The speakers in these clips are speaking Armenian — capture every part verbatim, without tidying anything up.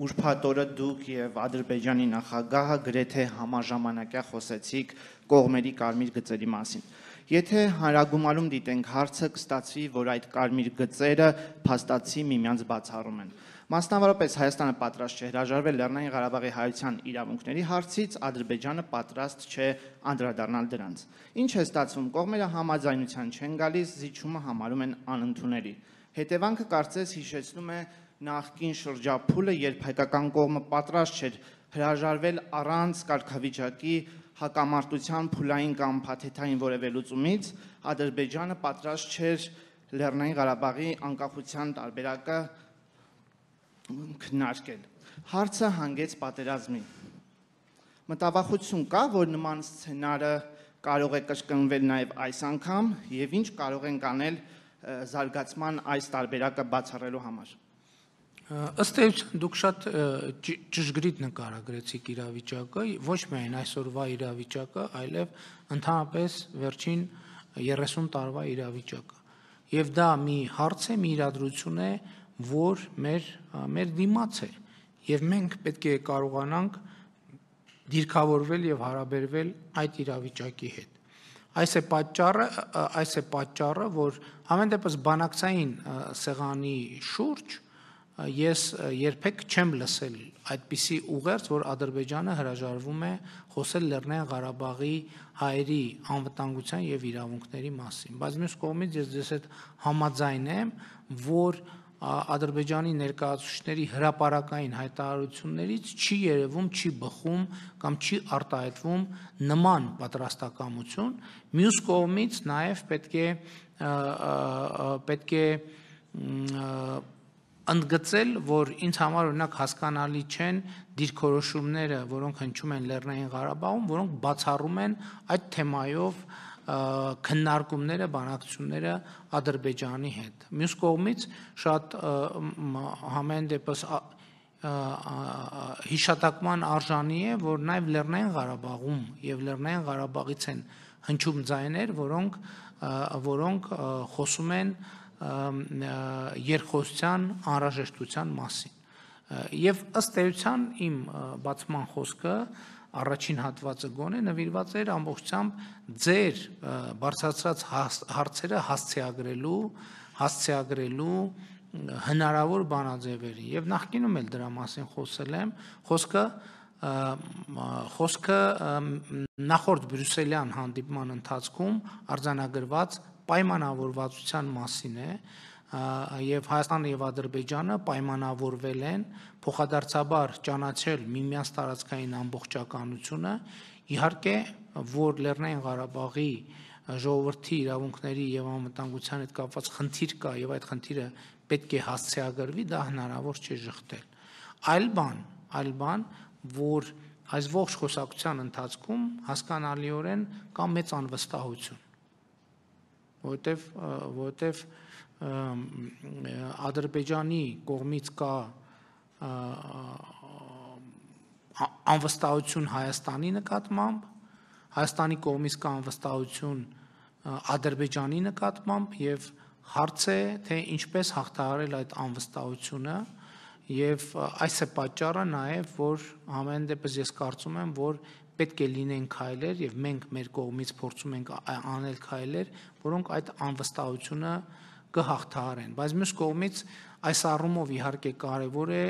ուրբաթ օրը դուք եւ Ադրբեջանի նախագահը գրեթե համաժամանակյա խոսեցիք կողմերի կարմիր գծերի մասին։ Եթե հանրագումարում դիտենք հարցը, կստացվի, որ այդ կարմիր գծերը փաստացի միմյանց բացառում են։ Մասնավորապես Հայաստանը պատրաստ չէ հրաժարվել Լեռնային Ղարաբաղի հայության իրավունքների հարցից, Ադրբեջանը պատրաստ չէ անդրադառնալ դրանց։ Ինչ է ստացվում, կողմերը համաձայնության չեն գալիս, զիջումը համարում են անընդունելի։ Հետևանքը կարծես հիշեցնում է նախկին շրջափուլը, երբ հայկական կողմը պատրաստ չէր հրաժարվել առանց կարգավիճակի հակամարտության փուլային կամ փաթեթային որևէ լուծումից, Ադրբեջանը պատրաստ չէր Լեռնային Ղարաբաղի անկախության տարբերակը քննարկել։ Հարցը հանգեց պատերազմի։ Մտավախություն կա, որ նման սցենարը կարող է կրկնվել նաև այս անգամ, եւ ինչ կարող ենք անել զարգացման այս տարբերակը բացառելու համար։ Ըստ էության դուք շատ ճշգրիտ նկարագրեցիք իրավիճակը, ոչ միայն այսօրվա իրավիճակը, այլև ընդհանրապես վերջին երեսուն տարվա իրավիճակը։ Եվ դա մի հարց է, մի իրադրություն է, որ մեր մեր դիմաց է, եւ մենք պետք է կարողանանք դիրքավորվել եւ հարաբերվել այդ իրավիճակի հետ։ Այս է պատճառը, այս է պատճառը, որ ամեն դեպս բանակցային սեղանի շուրջ ես երբեք չեմ լսել այդպիսի ուղերձ, որ Ադրբեջանը հրաժարվում է խոսել Լեռնային Ղարաբաղի հայերի անվտանգության եւ իրավունքների մասին։ Բայց մյուս կողմից ես ձեզ հետ համաձայն եմ, որ Ադրբեջանի ներկայացուցիչների հրապարակային հայտարարություններից չի երևում, չի բխում կամ չի արտահայտվում նման պատրաստակամություն։ Մյուս կողմից նաեւ պետք է պետք է ընդգծել, որ ինձ համար օրինակ հասկանալի չեն դիրքորոշումները, որոնք հնչում են Լեռնային Ղարաբաղում, որոնք բացառում են այդ թեմայով քննարկումները, բանակցությունները Ադրբեջանի հետ։ Մյուս կողմից շատ համեն դեպս հիշատակման արժանի է, որ նաև Լեռնային Ղարաբաղում եւ Լեռնային Ղարաբաղից են հնչում ձայներ, որոնք որոնք խոսում են երկխոսության անհրաժեշտության մասին։ Եվ ըստ էության իմ բացման խոսքը առաջին հատվածը գոնե նվիրված էր ամբողջությամբ ձեր բարձրացրած հարցերը հասցեագրելու, հասցեագրելու հնարավոր բանաձևերի եւ նախկինում էլ դրա մասին խոսել եմ, խոսքը խոսքը նախորդ բրյուսելյան հանդիպման ընթացքում արձանագրված պայմանավորվածության մասին է, եւ Հայաստանը եւ Ադրբեջանը պայմանավորվել են փոխադարձաբար ճանաչել միմյանց տարածքային ամբողջականությունը, իհարկե, որ Լեռնային Ղարաբաղի ժողովրդի իրավունքների եւ անվտանգության հետ կապված խնդիր կա եւ այդ խնդիրը պետք է հասցեագրվի, դա հնարավոր չէ շղթել։ Այլ բան, այլ բան, որ այս ողջ խոսակցության ընթացքում հասկանալիորեն կա մեծ անվստահություն, որտեվ որտեվ Ադրբեջանի կողմից կա անվստահություն Հայաստանի նկատմամբ, Հայաստանի կողմից կա անվստահություն Ադրբեջանի նկատմամբ եւ հարց է, թե ինչպես հաղթահարել այդ անվստահությունը եւ այս է պատճառը նաեւ, որ ամեն դեպս ես կարծում եմ, որ պետք է լինեն քայլեր եւ մենք մեր կողմից փորձում ենք անել քայլեր, որոնք այդ անվստահությունը կհաղթահարեն։ Բայց մյուս կողմից այս առումով իհարկե կարևոր է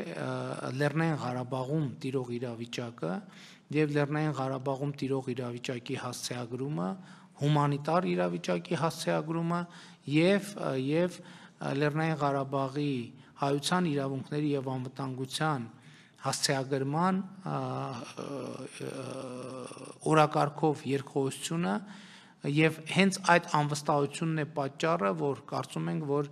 Լեռնային Ղարաբաղում տիրող իրավիճակը եւ Լեռնային Ղարաբաղում տիրող իրավիճակի հասցեագրումը, հումանիտար իրավիճակի հասցեագրումը եւ եւ Լեռնային Ղարաբաղի հայության իրավունքների եւ անվտանգության հասցեագրման օրակարգով երկխոսությունը եւ հենց այդ անվստահությունն է պատճառը, որ կարծում ենք, որ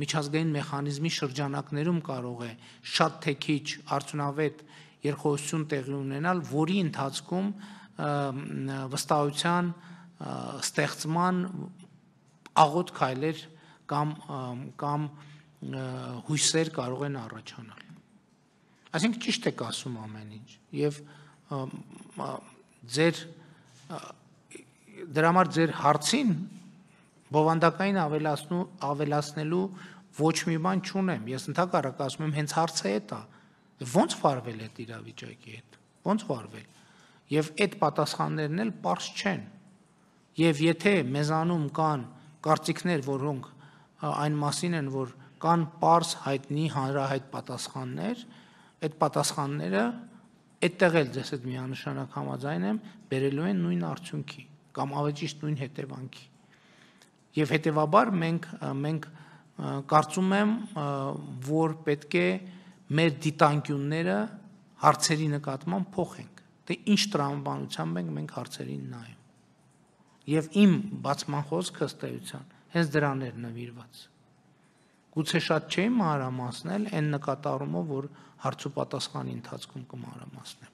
միջազգային մեխանիզմի շրջանակներում կարող է շատ թե քիչ արդյունավետ երկխոսություն տեղի ունենալ, որի ընթացքում վստահության ստեղծման աղոտ քայլեր կամ կամ հույսեր կարող են առաջանալ։ Այսինքն ճիշտ եք ասում ամեն ինչ եւ ձեր դրա համար ձեր հարցին բովանդակային ավելացնելու ոչ մի բան չունեմ։ Ես ընդհակառակ ասում եմ, հենց հարցը է դա։ Ոնց վարվել այդ իրավիճակի հետ։ Ոնց վարվել։ Եվ այդ պատասխաններն էլ պարզ չեն։ Եվ եթե մեզանում կան կարծիքներ, որոնք այն մասին են, որ կան պարզ հայտնի հանրահայտ պատասխաններ, այդ պատասխանները այդտեղ էլ ձեզ հետ միանշանակ համաձայն եմ, բերելու են նույն արդյունքի կամ ավելի ճիշտ նույն հետևանքի։ Եվ հետևաբար մենք մենք կարծում եմ, որ պետք է մեր դիտանկյունները հարցերի նկատմամբ փոխենք, թե ինչ տրամաբանությամբ ենք մենք հարցերին նայում։ Եվ իմ բացման խոսքը ըստ էության հենց դրան էր նվիրված։ Գուցե շատ չէի մանրամասնել այն նկատառումով, որ հարց ու պատասխանի ընթացքում կմանրամասնեմ։